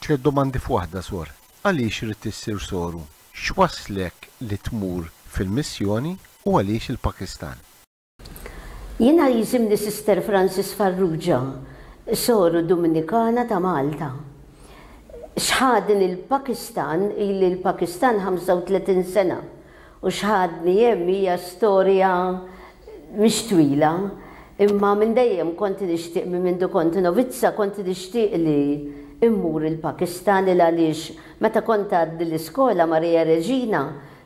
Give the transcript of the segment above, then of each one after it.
Tlett domandi f'waħda, Sor. Għaliex ridt issir soru? X'wasslek li tmur fil-missjoni u għaliex il-Pakistan? Jiena jisimni Sister Frances Farrugia, soru Duminikana ta' Malta. X'ħadni l-Pakistan, ili l-Pakistan 35 sena u x'ħadni hemm hija storja mhix twila, imma minn dejjem kont nixtieq minn mindu kont novizza kont nixtieq li mmur il-Pakistan il għaliex meta kont għadni l-iskola Maria Reġina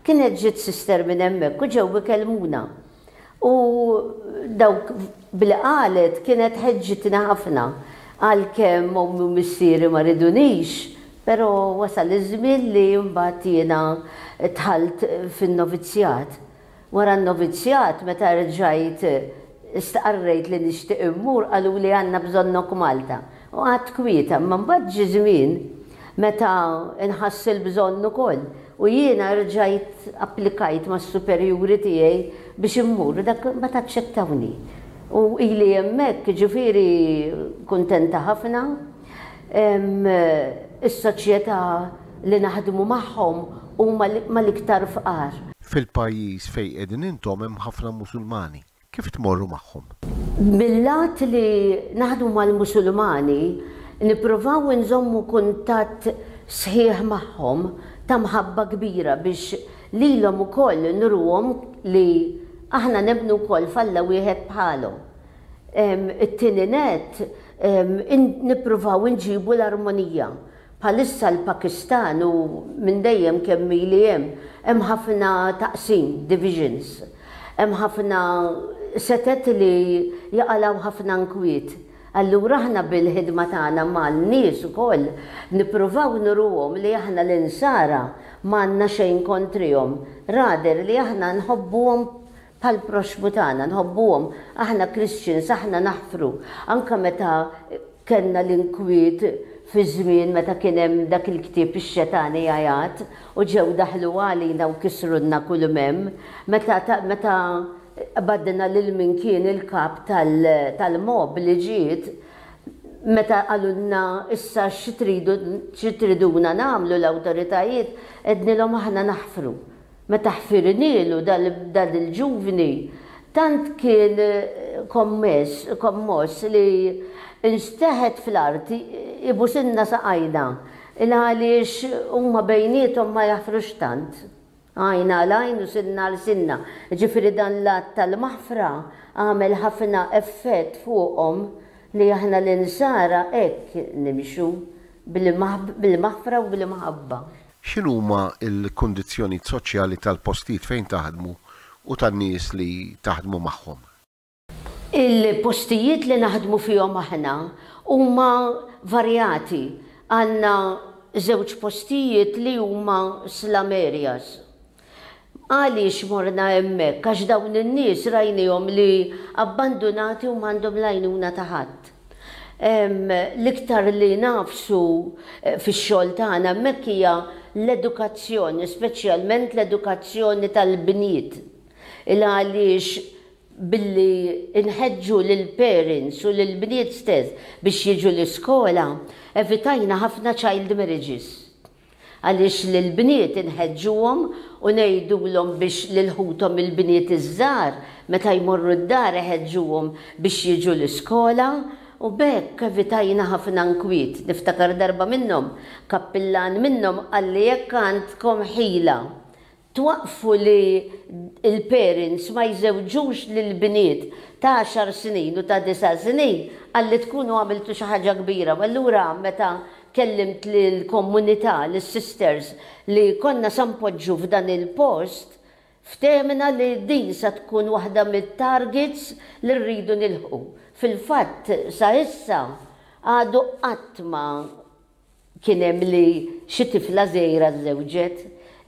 kienet ġiet sister minn hemmhekk u ġew ikellmuna. U dawk billi qalet kienet ħeġġitni ħafna. Għalkemm ommi u missieri ma ridunix, però wasal iż-żmien li mbagħad jiena dħalt fin-novizzjat. Wara n-novizzjat meta rġajt stqarrejt li nixtieq immur qaluli għandna bżonnok Malta. U qgħadt kwieta, imma mbagħad ġie żmien meta nħass il-bżonn ukoll u jiena rġajt applikajt mas-superjuri tiegħi biex immur u dak mbagħad aċċettawni. U ili hemmhekk, jiġifieri kuntenta ħafna. Is-soċjetà li naħdmu magħhom huma mal-iktar fqar. Fil-pajjiż fejn qegħdin intom hemm ħafna Musulmani. Kif tmorru magħhom? Mil-lat li naħdmu mal-Musulmani, nippruvaw inżommu kuntatt sħiħ magħhom ta' mħabba kbira biex lilhom ukoll nuruhom li aħna nemmnu wkoll f'Alla wieħed bħalhom. It-tieni nett, nippruvaw inġibu l-armonija. Bħalissa l-Pakistan u minn dejjem kemm ili hemm, hemm ħafna taqsim, divisions. Hemm ħafna setet li jaqalgħu ħafna nkwiet. Allura aħna bil-ħidma tagħna mal-nies ukoll nippruvaw nuruhom li aħna l-Insara m'għandna xejn kontrihom, rather li aħna nħobbuhom Bħall-proxxmu tagħna, nħobbuhom. Aħna Christians, aħna naħfru. Anke meta kellna l-inkwiet fi żmien meta kien hemm dak il-ktieb Ix-Xetani Jgħajat u ġew daħlu għalina u kisrulna kull m'hemm, meta meta qbadna lil min kien il-kap tal-mob li ġiet, meta qalulna issa xi tridu xi triduna nagħmlu l-awtoritajiet, għednilhom aħna naħfru. Meta ħfirnielu dan il-ġuvni, tant kien kommess, kommoss li nxteħet fl-art ibusilna saqajna, il-għaliex huma bejniethom ma jaħfrux tant. Għajn għal għajn u sinna għal sinna. Jiġifieri dan l-att tal-maħfra għamel ħafna effett fuqhom li aħna l-Insara hekk nimxu, bil-maħfra u bl-imħabba. X'inhuma l-kundizzjonijiet soċjali tal-postijiet fejn taħdmu u tan-nies li taħdmu magħhom? Il-postijiet li naħdmu fihom aħna huma varjati. Għandna żewġ postijiet li huma slum areas. Għaliex morna hemmhekk? Għax dawn in-nies rajnihom li abbandunati u m'għandhom l-għajnuna ta' ħadd. L-iktar li nagħfsu fix-xogħol tagħna hemmhekk hija l-edukazzjoni, speċjalment l-edukazzjoni tal-bniet. Il-għaliex billi nħeġġu lill-parents u lill-bniet stess biex jiġu l-iskola, evitajna ħafna child marriages. Għaliex lill-bniet inħeġġuhom u ngħidulhom biex lil ħuthom il-bniet iż-żgħar meta jmorru d-dar iħeġġuhom biex jiġu l-iskola u b'hekk evitajna ħafna nkwiet. Niftakar darba minnhom, kappillan minnhom qalli jekk għandkom ħila Twaqqfu li l-parents ma jżewġux lill-bniet ta' għaxar snin u ta' disa' snin, qalli tkunu għamiltu xi ħaġa kbira. U allura meta kellimt lill-komunità, lis-sisters li konna sa npoġġu f'dan il-post, ftehmna li din sa tkun waħda mit-targets li rridu nilħqu. Fil-fatt sa issa għadu qatt ma Kien hemm li xi tifla żgħira żżewġet.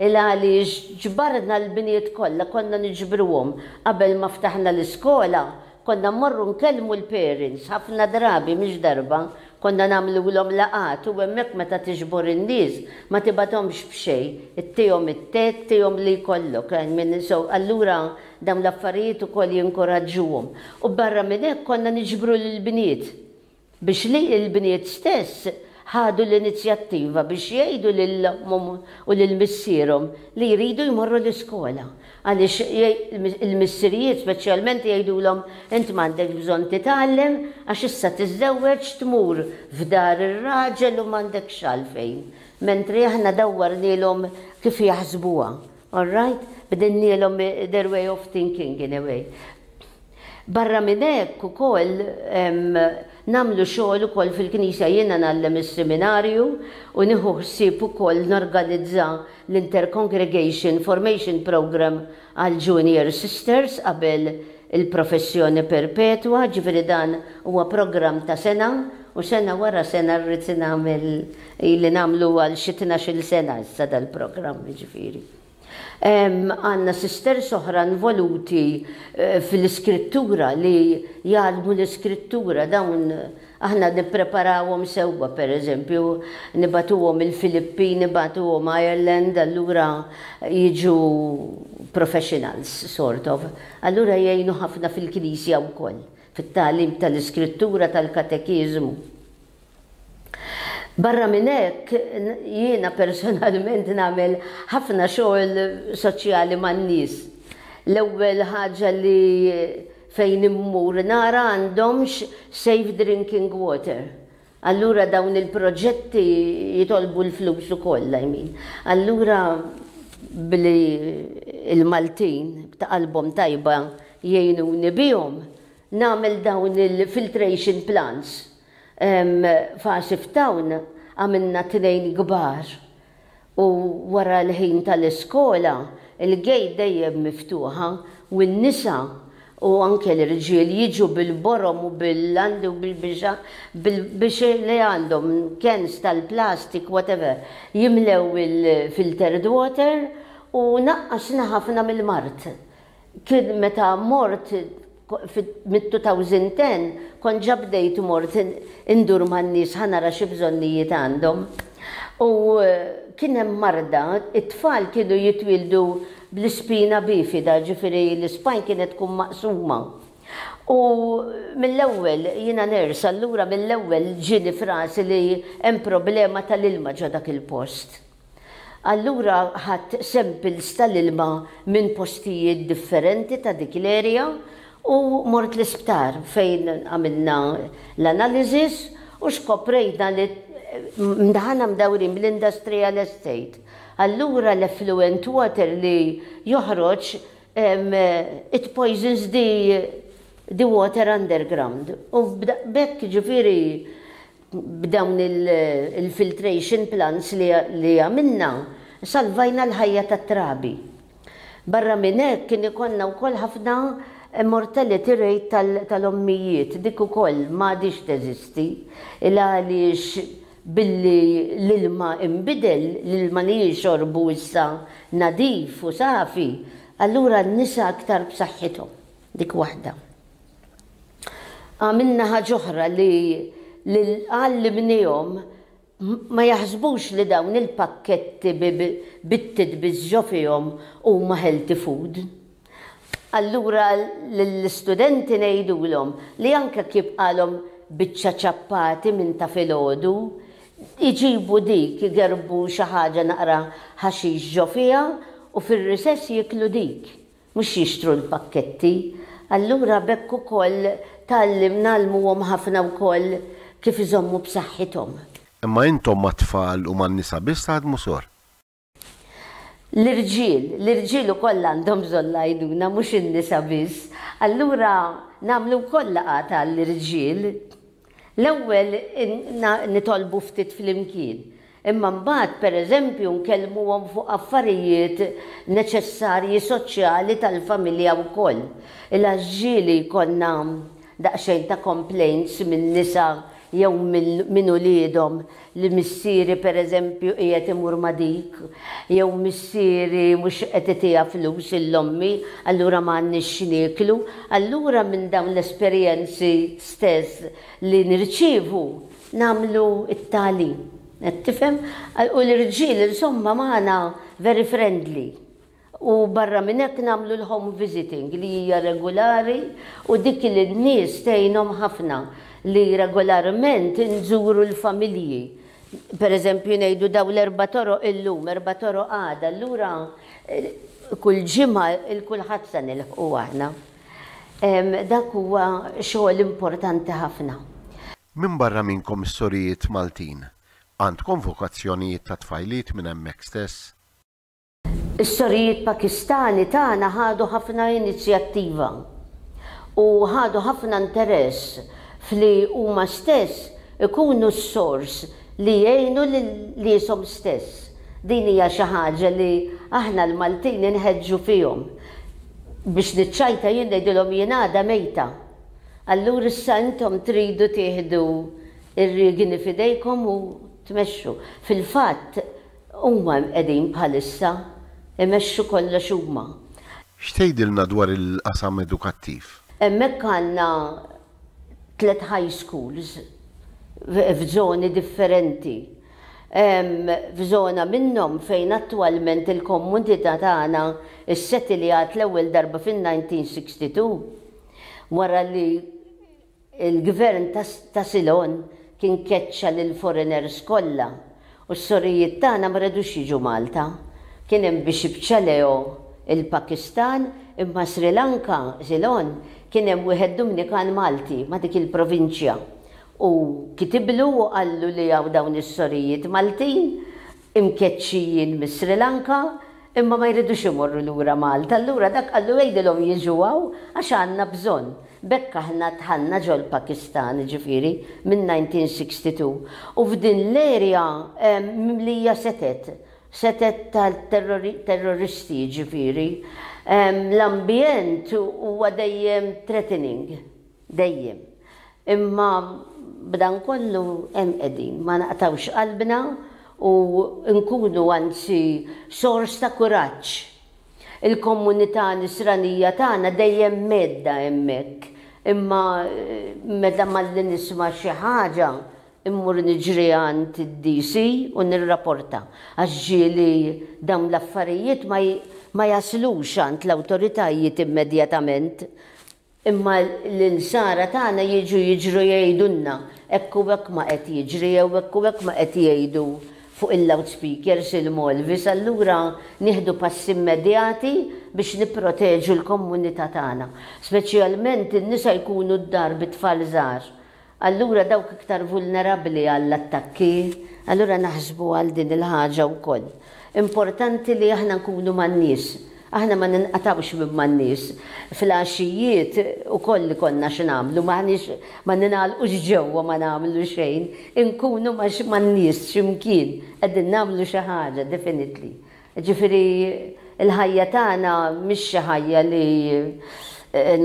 Il għaliex ġbarna l-bniet kollha, konna niġbruhom qabel ma ftaħna l-iskola, konna mmorru nkellmu l-parents ħafna drabi mhix darba, konna nagħmlulhom laqgħat u hemmhekk meta tiġbor in-nies ma tibgħathomx b'xejn, ittihom it-te, ttihom li jkollok, I mean so allura dawn l-affarijiet ukoll jinkoraġġuhom. U barra minn hekk konna niġbru lill-bniet. Biex li l-bniet stess ħadu l-inizjattiva biex jgħidu lil ommhom u lil missierhom li jridu jmorru l-iskola. Għaliex il-missirijiet speċjalment jgħidulhom int m'għandekx bżonn titgħallem għax issa tiżżewweġ tmur f'dar ir-raġel u m'għandekx għalfejn. Mentri aħna dawwarnielhom kif jaħsbuha. All right? Bdilnielhom their way of thinking in a way. Barra minn hekk ukoll nagħmlu xogħol ukoll fil-Knisja. Jiena ngħallem is-seminarju u nieħu ħsieb ukoll norganizza l-Intercongregation Formation Programme għall-Junior Sisters qabel il-professjoni perpetwa, ġifieri dan huwa programm ta' sena u sena wara sena rrid nagħmel ili nagħmlu għal xi tnax-il sena issa dal-programm jiġifieri. Għandna sisters oħra involuti fl-iskrittura li jgħallmu l-iskrittura dawn aħna nippreparawhom sewwa pereżempju nibagħtuhom il-Filippin, nibagħtuhom Ireland allura jiġu professionals sort of. Allura jgħinu ħafna fil-knisja wkoll, fit-tagħlim tal-iskrittura tal-katekiżmu. Barra minn hekk, jiena personalment nagħmel ħafna xogħol soċjali man-nies. L-ewwel ħaġa li fejn immur nara għandhomx safe drinking water. Allura dawn il-proġetti jitolbu l-flus ukoll, I mean. Allura billi l-Maltin ta' qalbhom tajba jgħinuni bihom, nagħmel dawn il-filtration plants. F'Asif Town għamilna tnejn kbar u wara l-ħin tal-iskola l-gate dejjem miftuħa u n-nisa u anke l-irġiel jiġu bil-borom u bil-landi u bil-bixa biex li għandhom cans tal-plastic whatever jimlew il-filtered water u naqqasna ħafna mill-mard. Kien meta mort mit-2010 kont ġa bdejt mort indur man-nies ħa nara xi bżonnijiet għandhom. U kien hemm marda, it-tfal kienu jitwieldu bl-ispina bifida, ġifieri l-ispine kienet tkun maqsuma. U mill-ewwel, jiena nurse, allura mill-ewwel ġieni f'rasi li hemm problema tal-ilma ġo dak il-post. Allura ħadt samples tal-ilma minn postijiet differenti ta' dik l-area u mort l-isptar fejn għamilna l-analysis u skoprejna li aħna mdawrin bl-industrial estate. Allura l-effluent water li joħroġ it poisons the the water underground. U b'hekk ġifieri B'dawn il-filtration plants li għamilna, salvajna l-ħajja tat-trabi. Barra minn hekk kien ikollna wkoll ħafna mortality rate tal-ommijiet, dik ukoll m'għadhiex teżisti, il għaliex billi l-ilma inbidel, l-ilma li jixorbu issa nadif u safi, allura n-nisa aktar b'saħħithom. Dik waħda. Għamilna ħaġa oħra li għallimnihom ma jaħsbux li dawn il-pakketti bit-titbiż ġo fihom huma healthy food. Allura lill-istudenti ngħidulhom li anke jekk jibqalhom biċċa ċappati minn ta' filgħodu, iġibu dik, igerrbu xi ħaġa naqra ħaxix ġo fiha u fir-recess jieklu dik. Mhux jixtru l-pakketti. Allura b'hekk ukoll tgħallim ngħallmuhom ħafna wkoll kif iżommu b'saħħithom. Imma intom mat-tfal u man-nisa biss taħdmu sor? L-irġiel, l-irġiel ukoll għandhom bżonn l-għajnuna mhux in-nisa biss. Allura nagħmlu wkoll laqgħat għall-irġiel. L-ewwel nitolbu ftit flimkien. Imma mbagħad, per eżempju, nkellmuhom fuq affarijiet neċessarji soċjali tal-familja wkoll. Il-għax ġieli jkollna daqsxejn ta' complaints minn nisa jew minn uliedhom li missieri per eżempju qiegħed imur ma' dik, jew missieri mhux qed itiha flus 'l ommi, allura m'għandniex x'nieklu. Allura minn dawn l-esperjenzi stess li nirċievu, nagħmlu t-tagħlim. Qed tifhem? U l-irġiel insomma magħna very friendly. U barra minn hekk nagħmlu l-home visiting li hija regulari u dik li n-nies tgħinhom ħafna li regolarment inżuru l-familji. Per eżempju ngħidu daw l-erba' toroq illum, erba' toroq għada, allura kull ġimgħa 'l kulħadd se nilħqu aħna. Dak huwa xogħol importanti ħafna. Minbarra minnkom is-sorijiet Maltin, għandkom vokazzjonijiet ta' tfajliet minn hemmhekk stess? Is-sorijiet Pakistani tagħna ħadu ħafna inizjattiva u ħadu ħafna interess f'li huma stess ikunu s-sors li jgħinu lil nieshom stess. Din hija xi ħaġa li aħna l-Maltin inħeġġu fihom. Biex niċċajta jien ngħidilhom jien għada mejta. Allura issa intom tridu tieħdu r-riegni f'idejkom u tmexxu. Fil-fatt, Huma hemm qegħdin bħalissa, imexxu kollox huma. X'tgħidilna dwar il-qasam edukattiv? Hemmhekk għandna tlett high schools f'żoni differenti. F'żona minnhom fejn attwalment il-komunità tagħna ssettiljat l-ewwel darba fin-1962, wara li Il-gvern ta' Ceylon kien keċċa lill-foreigners kollha u s-sorijiet tagħna ma redux jiġu Malta. Kien hemm Bishop Chaleo il-Pakistan imma Sri Lanka, Ceylon, kien hemm wieħed Dumnikan Malti ma' dik il-provinċja u kitiblu u qallu li hawn dawn is-sorijiet Maltin imkeċċijin mis-Sri Lanka imma ma jridux imorru lura Malta, allura dak qallu għidilhom jiġu hawn għax għandna bżonn. B'hekk aħna dħalna ġol-Pakistan, jiġifieri minn 1962. U f'din l-area mimlija setet, setet ta' terroristi jiġifieri. L-ambjent huwa dejjem threatening. Dejjem. Imma b'dan kollu hemm qegħdin, ma naqtgħux qalbna u nkunu anzi sors ta' kuraġġ. Il-komunità Nisranija tagħna dejjem mgħedda hemmhekk, imma meta malli nisma' xi ħaġa immur niġri għand id-DC u nirraporta għax ġieli dawn l-affarijiet ma jaslux għand l-awtoritajiet immedjatament. Imma l-insara tagħna jiġu jiġru jgħidulna hekk u hekk ma qed jiġri jew hekk u hekk ma qed jgħidu fuq il-loudspeakers il-Malvis, allura nieħdu passi immedjati biex nipproteġu l-komunità tagħna. Speċjalment in-nisa jkunu d-dar bi tfal żgħar. Allura dawk iktar vulnerabbli għall-attakki, allura naħsbu għal din il-ħaġa wkoll. Importanti li aħna nkunu man-nies. Aħna ma ninqatgħux minn man-nies. Fil-għaxijiet ukoll ikollna x'nagħmlu, m'aħniex ma ningħalqux ġewwa ma nagħmlu xejn, inkunu ma' man-nies xi mkien qegħdin nagħmlu xi ħaġa definitely. Jiġifieri l-ħajja tagħna mhix xi ħajja li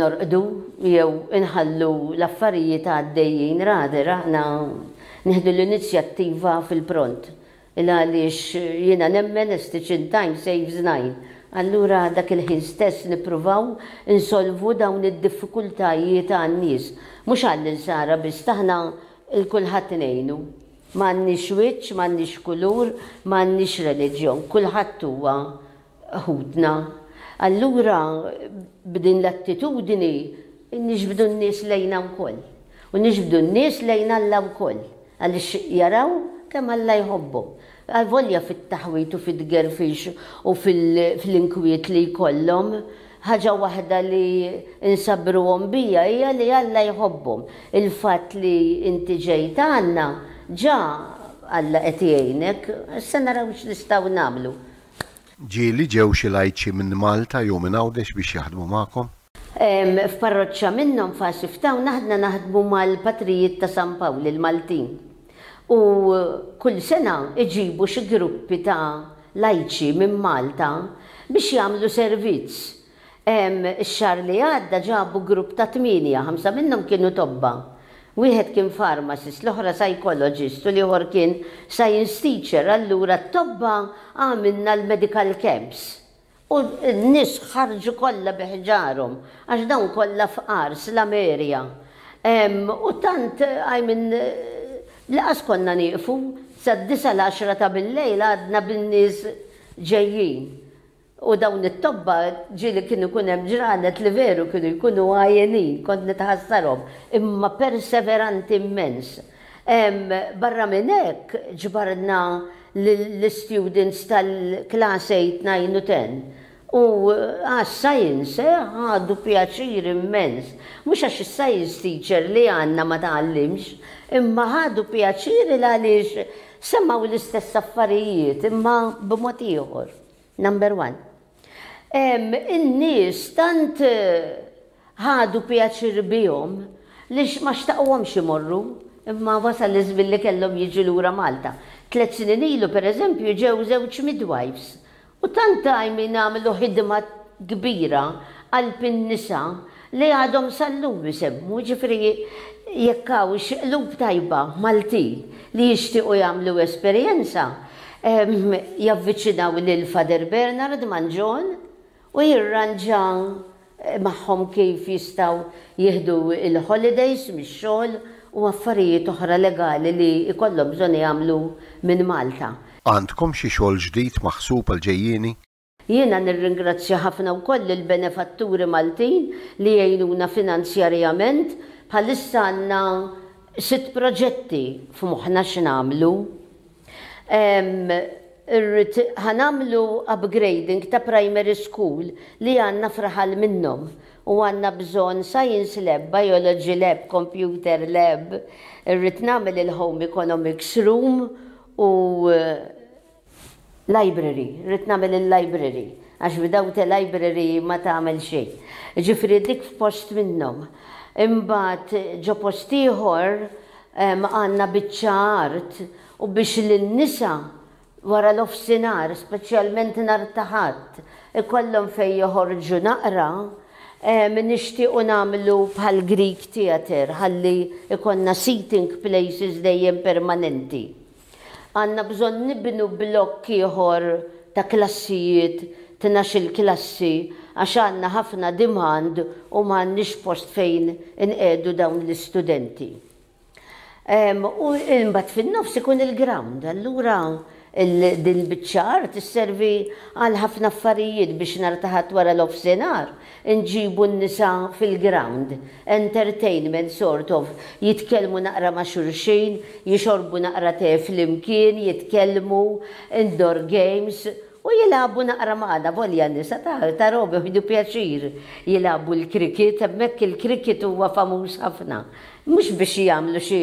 norqdu jew inħallu l-affarijiet għaddejjin, rather aħna nieħdu l-inizjattiva fil-pront. Il-għaliex jiena nemmen a stitch in time saves nine. Allura dak il-ħin stess nippruvaw insolvu dawn id-diffikultajiet għan-nies. Mhux għall-insara biss, aħna 'l kulħadd ngħinu. M'għandniex wiċċ, m'għandniex kulur, m'għandniex reliġjon, kulħadd huwa ħutna. Allura b'din l-attitudni niġbdu n-nies lejna wkoll. U niġbdu n-nies lejn Alla wkoll, għaliex jaraw kemm Alla jħobbhom. Avolja fit-taħwid u fit-tgerfix u fl-inkwiet li jkollhom, ħaġa waħda li nsabbruhom biha hija li Alla jħobbhom. Il-fatt li inti ġejt għandna, ġa Alla qed jgħinek, issa naraw x'nistgħu nagħmlu. Ġieli ġew xi lajċi minn Malta jew minn Għawdex biex jaħdmu magħkom? F'parroċċa minnhom, f'Asif Town, aħna naħdmu mal-patrijiet ta' San Pawl, il-Maltin. U kull sena iġibu xi gruppi ta' lajċi minn Malta biex jagħmlu servizz. Ix-xahar li għadda ġabu grupp ta' tmienja, ħamsa minnhom kienu tobba. Wieħed kien pharmacist, l-oħra psychologist u l-ieħor kien science teacher, allura t-tobba għamilna l-medical camps. U n-nies ħarġu kollha bi ħġarhom, għax dawn kollha fqar, slum area. U tant, I mean, li qas konna nieqfu, sad-disgħa l-għaxra ta' bil-lejl għadna bin-nies ġejjin. U dawn it-tobba ġieli kien ikun hemm ġranet li veru kienu jkunu għajjenin, kont nitħassarhom, imma perseveranti immens. Barra minn hekk ġbarna lill-istudents tal-class 8, 9 u 10 u għas-science ħadu pjaċir immens. Mhux għax is-science teacher li għandna ma tgħallimx, imma ħadu pjaċir il għaliex semgħu l-istess affarijiet imma b'mod ieħor. Number one. In-nies tant ħadu pjaċir bihom li ma xtaquhomx imorru, imma wasal iż-żmien li kellhom jiġu lura Malta. Tlet snin ilu, pereżempju, ġew żewġ midwives u tant I mean għamlu ħidma kbira qalb in-nisa li għadhom sal-lum isemmu, jiġifieri jekk hawn xi qlub tajba Maltin li jixtiequ jagħmlu esperjenza, javviċinaw lil Father Bernard Mangion u jirranġa magħhom kif jistgħu jieħdu l-holidays mix-xogħol u affarijiet oħra legali li jkollhom bżonn jagħmlu minn Malta. Għandkom xi xogħol ġdid maħsub għall-ġejjieni? Jiena nirringrazzja ħafna wkoll lill-benefatturi Maltin li jgħinuna finanzjarjament. Bħalissa għandna sitt proġetti f'moħħna x'nagħmlu. Irrid ħa nagħmlu upgrading ta' primary school li għandna f'raħal minnhom u għandna bżonn science lab, biology lab, computer lab, irrid nagħmel il-home economics room u Library, rrid nagħmel il-library, għax without a library ma tagħmel xejn. Jiġifieri dik f'post minnhom. Imbagħad ġo post ieħor għandna biċċa art u biex lin-nisa wara nofsinhar, speċjalment nhar ta' Ħadd, ikollhom fejn joħorġu naqra, nixtiequ nagħmlu bħal Greek theatre ħalli jkollna seating places dejjem permanenti. Għandna bżonn nibnu blokk ieħor ta' klassijiet, tnax-il klassi, għax għandna ħafna demand u m'għandniex post fejn inqiegħdu dawn l-istudenti. U imbagħad fin-nofs ikun il-ground, allura din il-biċċa art isservi għal ħafna affarijiet biex nhar ta' Ħadd wara nofsinhar inġibu n-nisa fil-ground, entertainment sort of, jitkellmu naqra ma' xulxin, jixorbu naqra te flimkien, jitkellmu, indoor games, u jilagħbu naqra magħna, volja n-nisa ta' Rome jieħdu pjaċir jilagħbu l-cricket, hemmhekk il-cricket huwa famuż ħafna. Mhux biex jagħmlu xi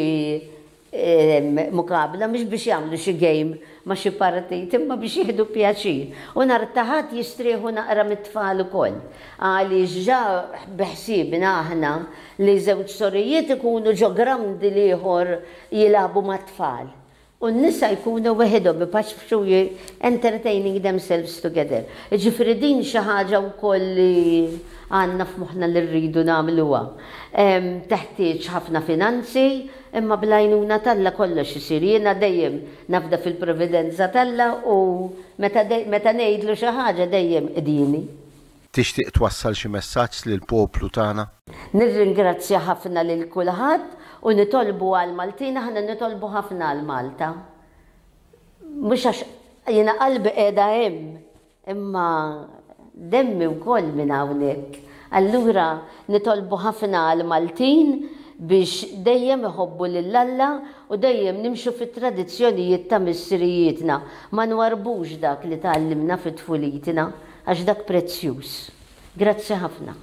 muqabla mhux biex jagħmlu xi game ma' xi partit imma biex jieħdu pjaċir. U nhar ta' Ħadd jistrieħu naqra mit-tfal ukoll. Għaliex ġa beħsiebna aħna li żewġ sorijiet ikunu ġo ground l-ieħor jilagħbu mat-tfal. U n-nisa jkunu weħidhom ipaċpċu entertaining themselves together. Jiġifieri din xi ħaġa wkoll li għandna f'moħħna li rridu nagħmluha. Teħtieġ ħafna finanzi, imma bl-għajnuna t'Alla kollox isir. Jiena dejjem nafda fil-providenza t'Alla u meta meta ngħidlu xi ħaġa dejjem qdieni. Tixtieq twassal xi messaġġ lill-poplu tagħna? Nirringrazzja ħafna lil kulħadd u nitolbu għall-Maltin, aħna nitolbu ħafna għal Malta. Mhux għax jiena qalbi qiegħda hemm, imma demmi wkoll minn hawnhekk. Allura nitolbu ħafna għall-Maltin biex dejjem iħobbu lil Alla u dejjem nimxu fit-tradizzjonijiet ta' missirijietna, ma nwarrbux dak li tgħallimna fi tfulitna. Għax dak prezzjuż. Grazzi ħafna.